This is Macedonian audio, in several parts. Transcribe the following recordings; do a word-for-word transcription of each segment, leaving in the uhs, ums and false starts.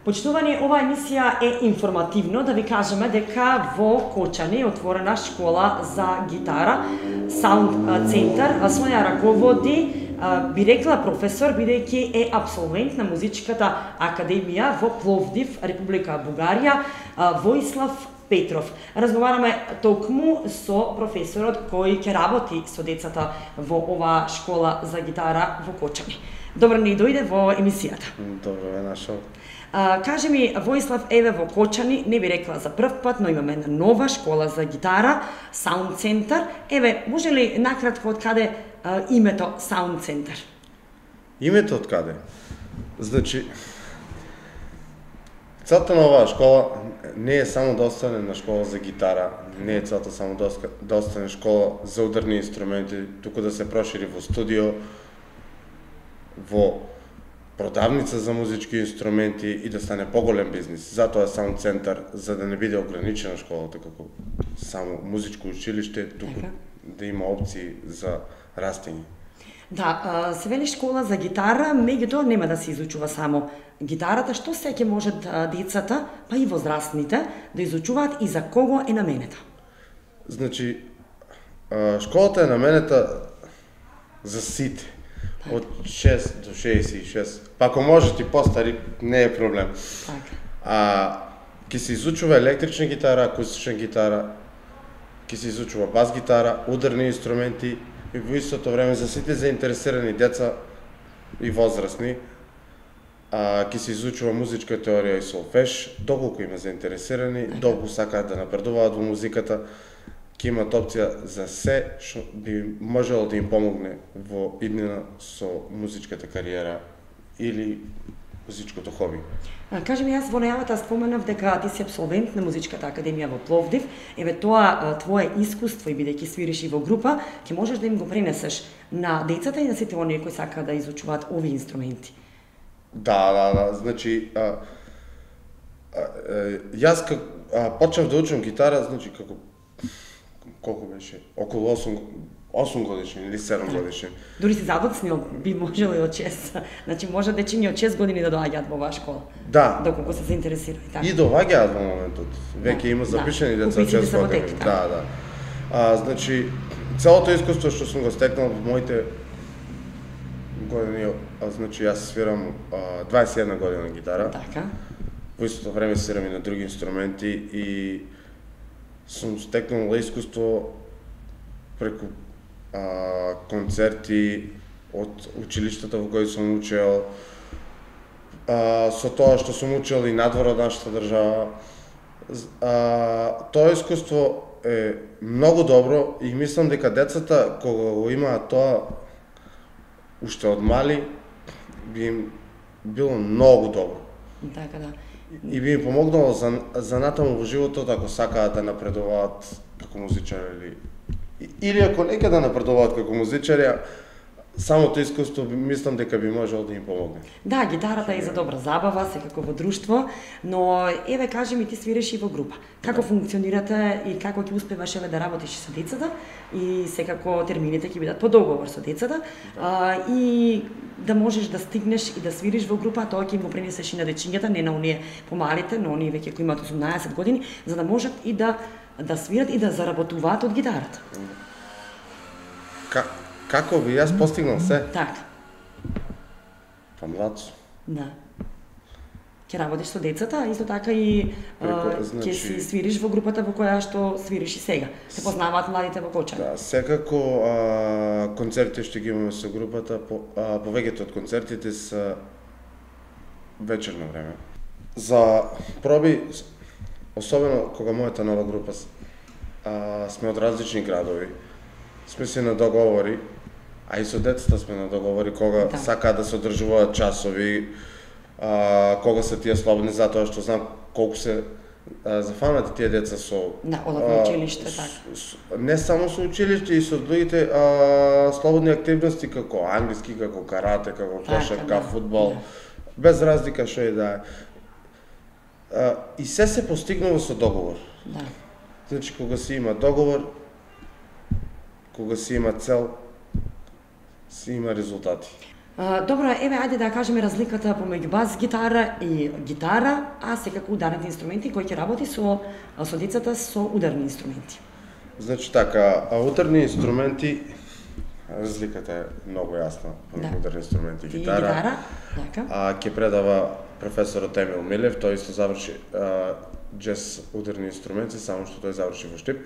Почитувани, оваа емисија е информативно, да ви кажеме дека во Кочани е отворена школа за гитара, Саунд центар, а своја раководи, би рекла професор, бидејќи е абсолвент на музичката академија во Пловдив, Република Бугарија, Воислав Петров. Разговараме токму со професорот кој ќе работи со децата во оваа школа за гитара во Кочани. Добро ни дојде во емисијата. Добро ве нашол. А, кажи ми, Воислав, еве во Кочани, не би рекла за прв пат, но имаме една нова школа за гитара, Саунд центар. Еве, може ли накратко од каде а, името Саунд центар? Името од каде? Значи, целта на оваа школа не е само да остане на школа за гитара, не е целта само да остане школа за ударни инструменти, туку да се прошири во студио, во продавница за музички инструменти и да стане поголем бизнис. Затоа Саунд центар, за да не биде ограничена школата како само музичко училиште, туку Така. да има опции за растење. Да, се вели школа за гитара, меѓутоа нема да се изучува само гитарата, што се ќе можат децата, па и возрастните, да изучуваат и за кого е наменета? Значи, школата е наменета за сите. Од шест до шеесет и шест. Па ако можат и постари, не е проблем. Така. А ќе се изучува електрична гитара, акустична гитара, ќе се изучува бас гитара, ударни инструменти и во истото време за сите заинтересирани деца и возрастни, а ќе се изучува музичка теорија и солфеж, доколку има заинтересирани, доколку сакаат да напредуваат во музиката, ќе имат опција за се што би можело да им помогне во иднина со музичката кариера или музичкото хоби. А, кажи ми, јас во најавата споменав дека ти си абсолвент на музичката академија во Пловдив. Еве тоа твое искуство и бидејќи свириш и во група, ќе можеш да им го пренесеш на децата и на сите оние кои сакаат да изучуваат овие инструменти. Да, да, да, значи а, а, а, јас как а, почнав да учам гитара, значи како колку беше? Околу осум годишен или седум годишен. Дури си задоцнил, би можело и од шест. Значи може дечиња од шест години да доаѓаат во оваа школа. Да. Доколку се заинтересирани, така. И доаѓаат во моментот. Веќе има запишани да. деца од шест години. Така. Да, да. А, значи, целото искуство што сум го стекнал во моите години, а, значи јас свирам а, дваесет и една година гитара. Така. Во истото време свирам и на други инструменти и сум стекнал искуство преку а, концерти од училиштата во кои сум учел, а, со тоа што сум учел и надвор од нашата држава. А, тоа искуство е многу добро и мислам дека децата кога го имаат тоа уште од мали би им било многу добро. Така да. И би им помогнало за, за натаму во животот ако сакаат да напредуваат како музичари или или ако нека да напредуваат како музичари, самото искуство мислам дека би можело да им помогне. Да, гитарата е за добра забава, секако во друштво, но еве кажи ми, ти свириш и во група. Како да. Функционирате и како ќе успеваш еве да работиш со децата и секако термините ќе бидат по договор со децата, да. а, и да можеш да стигнеш и да свириш во група, тоа ќе им го пренесеш и на дечињата, не на оние помалите, но оние веќе кои имаат осумнаесет години, за да можат и да да свират и да заработуваат од гитарата. Ка, како би јас постигнал се? Така. Па млад сум. Да. Ќе работиш со децата, исто така и Преко, значи... ќе си свириш во групата во која што свириш и сега. Се познаваат младите во Кочани. Да, секако а, концерти што ги имаме со групата, по, а, повеќето од концертите се вечерно време. За проби, особено кога мојата нова група а, сме од различни градови, сме се на договори А и со децата сме на договори кога Да. сакаат да се одржуваат часови, а, кога се тие слободни, затоа што знам колку се а, зафанати тие деца со Да, одат на а, училиште, с- така. с- не само со училиште, и со другите а, слободни активности како англиски, како карате, како Така, кошарка, да, фудбал, да. без разлика што и да е. А, и се се постигнува со договор. Да. Значи, кога се има договор, кога се има цел, се има резултати. А, добро, еве, ајде да кажеме разликата помеѓу бас гитара и гитара, а секако ударните инструменти кои ќе работи со со децата со ударни инструменти. Значи така, а ударни инструменти, разликата е многу јасна помеѓу Да. ударни инструменти и И гитара. гитара, така. А ќе предава професорот Емил Милев, тој исто заврши а, джез ударни инструменти, само што тој заврши во Штип.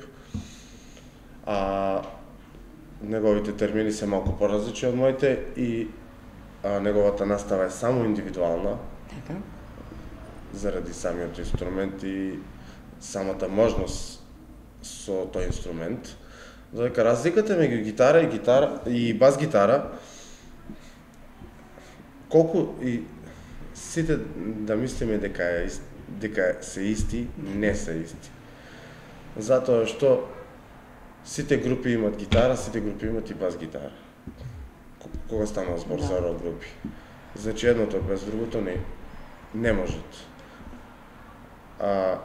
А неговите термини се малку поразлични од моите и а, неговата настава е само индивидуална, Така. заради самиот инструмент и самата можност со тој инструмент. Додека разликата меѓу гитара и гитара и бас гитара, колку и сите да мислиме дека е ист- дека се исти, не се исти. Затоа што сите групи имат гитара, сите групи имат и бас гитара. К- Кога стана збор Да. за рок групи. Значи едното без другото не не можат. А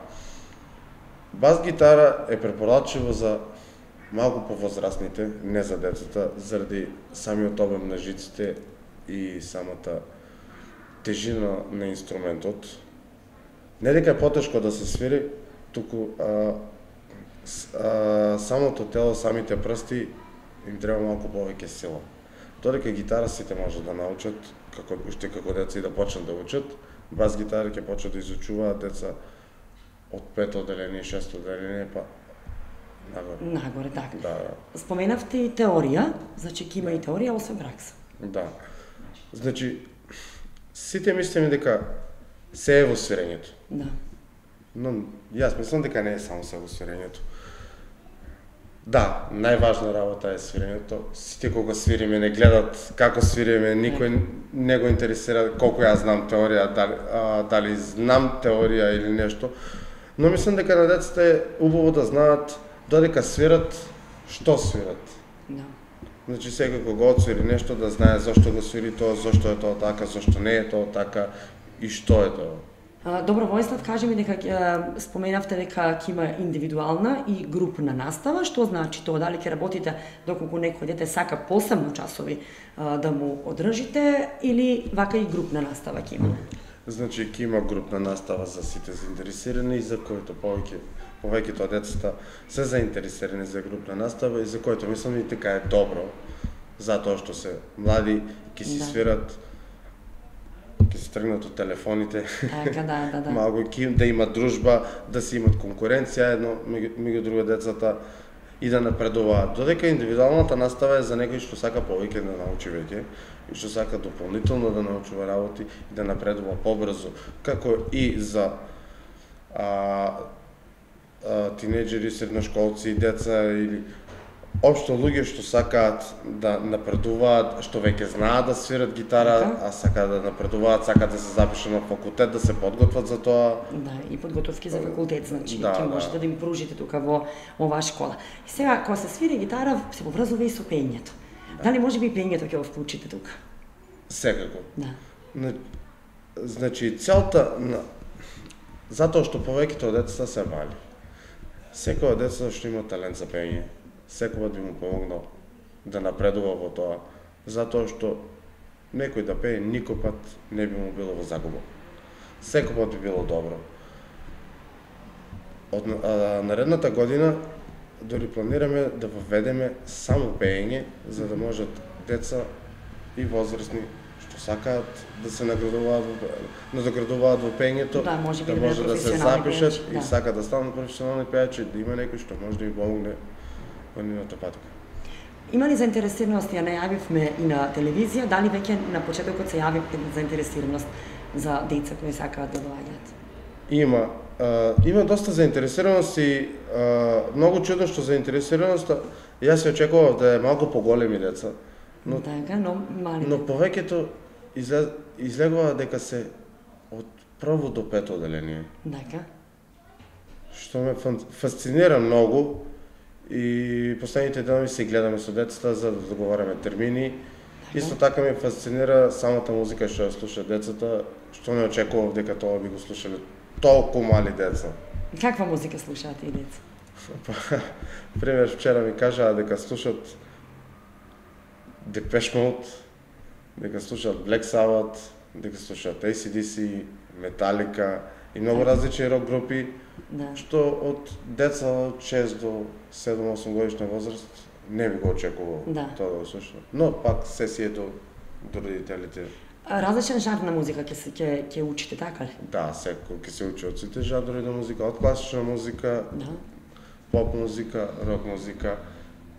бас гитара е препорачливо за малку повозрастните, не за децата, заради самиот обем на жиците и самата тежина на инструментот. Не дека е потешко да се свири, туку а, с- а, самото тело, самите прсти им треба малку повеќе сила. Додека гитара сите може да научат, како уште како деца и да почнат да учат, бас гитара ќе почнат да изучуваат деца од пето одделение, шесто одделение, па нагоре. Нагоре, така. Да, да. Споменавте и теорија, значи ќе има и теорија освен пракса. Да. Значи, сите мислиме дека се е во свирењето. Да. Но јас мислам дека не е само се во свирењето. Да, најважна работа е свирењето. Сите кога свириме не гледат како свириме, никој не го интересира колку јас знам теорија, дали, а, дали знам теорија или нешто. Но мислам дека на децата е убаво да знаат додека свират, што свират. Да. Значи секој кога отсвири нешто да знае зошто го свири тоа, зошто е тоа така, зошто не е тоа така и што е тоа. А, Добро, Војслав, кажи ми дека ќе- споменавте дека ќе има индивидуална и групна настава, што значи тоа? Дали ќе работите доколку некој дете сака посебно часови а, да му одржите или вака и групна настава ќе има? Значи ќе има групна настава за сите заинтересирани и за коите повеќе повеќето од децата се заинтересирани за групна настава и за коите мислам и дека е добро, затоа што се млади, ќе си Да. свират, ќе се тргнат од телефоните, Така, да, да, да. малку ќе да имат дружба, да си имат конкуренција едно меѓу меѓу друго децата и да напредуваат. Додека индивидуалната настава е за некој што сака повеќе да научи веќе и што сака дополнително да научува работи и да напредува побрзо, како и за а, а, тинеџери, средношколци, деца или општо луѓе што сакаат да напредуваат, што веќе знаат да свират гитара, Така. а сакаат да напредуваат, сакаат да се запишат на факултет, да се подготват за тоа. Да, и подготовки за факултет, значи, Да, ќе да. можете да им пружите тука во оваа школа. И сега, кога се свири гитара, се поврзува и со пеењето. Дали може би и пеењето ќе го вклучите тука? Секако. Да. На- Значи, целта на... Затоа што повеќето од децата се мали. Секој од децата што има талент за пење, секој би му помогнал да напредува во тоа, затоа што некој да пее никој пат не би му било во загуба. Секој пат би било добро. Од а, наредната година дори планираме да воведеме само пеење, за да можат деца и возрастни што сакаат да се наградуваат, во- надоградуваат во пеењето, Да, може би да да може бидат да се професионални запишат пејачи, и да. сакаат да станат професионални пејачи, да има некој што може да им помогне во нивната патка. Има ли заинтересираност, ја најавивме и на телевизија, дали веќе на почетокот се јави заинтересираност за деца кои сакаат да доаѓаат? Има, а, има доста заинтересираност и а, многу чудно што заинтересираноста, јас се очекував да е малку поголеми деца, Но, така, но мали. но повеќето излез, излегува дека се од прво до пето оделение. Така. Што ме фасцинира многу и последните денови се гледаме со децата за да договараме термини. Така. Исто така ме фасцинира самата музика што ја слушаат децата, што не очекував дека тоа би го слушале толку мали деца. Каква музика слушаат и деца? Пример, вчера ми кажаа дека слушаат Depeche Mode, дека слушаат Black Sabbath, дека слушаат A C D C, Metallica и многу различни рок групи, да. Што од деца од шест до седум-осум годишна возраст не би го очекувал да. Тоа да го слушаат. Но пак се си е до, до родителите. Различен жанр на музика ќе се ќе ќе учите, така ли? Да, секој ќе се учи од сите жанрови на музика, од класична музика, да. Поп музика, рок музика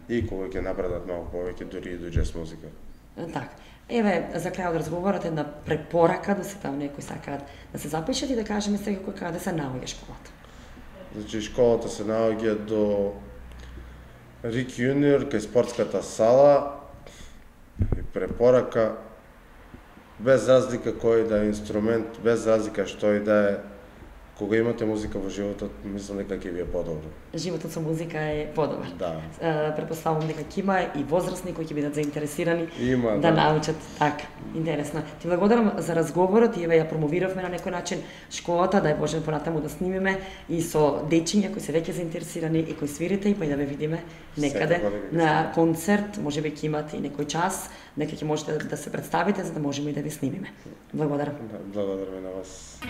и кога ќе напредат малку повеќе дури и до џез музика. Така. Еве, за крај од разговорот една препорака да се там некои сакаат да се запишат и да кажеме секако каде се наоѓа школата. Значи школата се наоѓа до Рик Јуниор кај спортската сала и препорака без разлика кој да е инструмент, без разлика што и да е, кога имате музика во животот, мислам дека ќе ви е подобро. Животот со музика е подобар. Да. Е, Претпоставувам дека ќе има и возрастни кои ќе бидат заинтересирани има, да, да научат така. Интересно. Ти благодарам за разговорот и еве ја промовиравме на некој начин школата, да е Боже понатаму да снимиме и со дечиња кои се веќе заинтересирани и кои свирите и па и да ве видиме некаде на концерт, можеби ќе имате и некој час, нека ќе можете да се представите за да можеме и да ве снимиме. Благодарам. Да, благодарам на вас.